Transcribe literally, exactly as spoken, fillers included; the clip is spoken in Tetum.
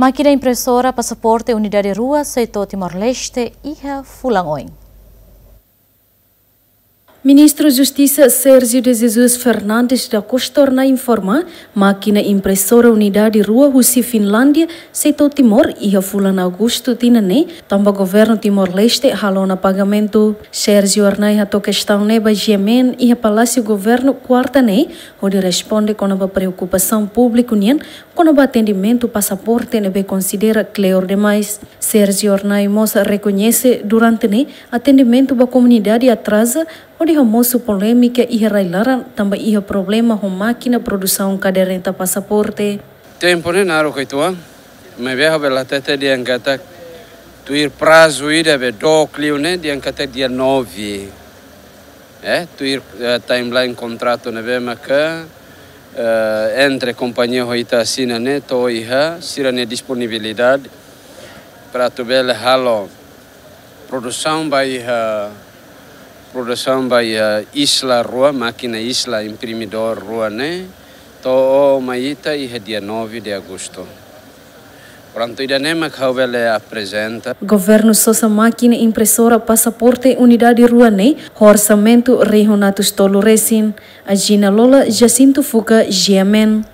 Mákina impresora pasaporte unidade rua sei to'o Timor-Leste iha fulan oin. Ministru Justisa Sérgio de Jesus Fernandes da Costa torna informa, mákina impresora unidade rua husi Finlándia sei to'o Timor iha fulan Agostu tinan ne'e, tanba governu Timor-Leste halo ona pagamentu. Sérgio Arnai hato'o kestaun ne'e ba G M N iha Palásiu Governu kuarta ne'e, hodi responde kona-ba preokupasaun públiku nian kona-ba atendimentu pasaporte ne'ebé konsidera kleur demais. Sérgio Arnai mós rekoñese durante ne'e atendimentu ba komunidade atraza, hodi hamosu polémika iha rai-laran tanba iha problema ho mákina produsaun kaderneta pasaporte. Tempu ne'e naruk uitoan, maibé ha'u bele hatete dehan katak tuir prazu ida be dook liu ne'e dehan katak dia nove. Eh, tuir, eh, timeline kontratu ne'ebé maka, eh, entre kompañia ho ita asina ne'e to'o iha sira-nia disponibilidade para atu bele halo produsaun ba iha, produsaun ba iha Isla rua, mákina Isla imprimidór rua ne'e to'o mai ita iha dia nove de Agosto. Prontu, ida-ne'e mak ha'u bele aprezenta. Governu sosa mákina impresora pasaporte unidade rua ne'e ho orsamentu rihun atus tolu resin. Agina Lola, Jacinto Fuca, G M N.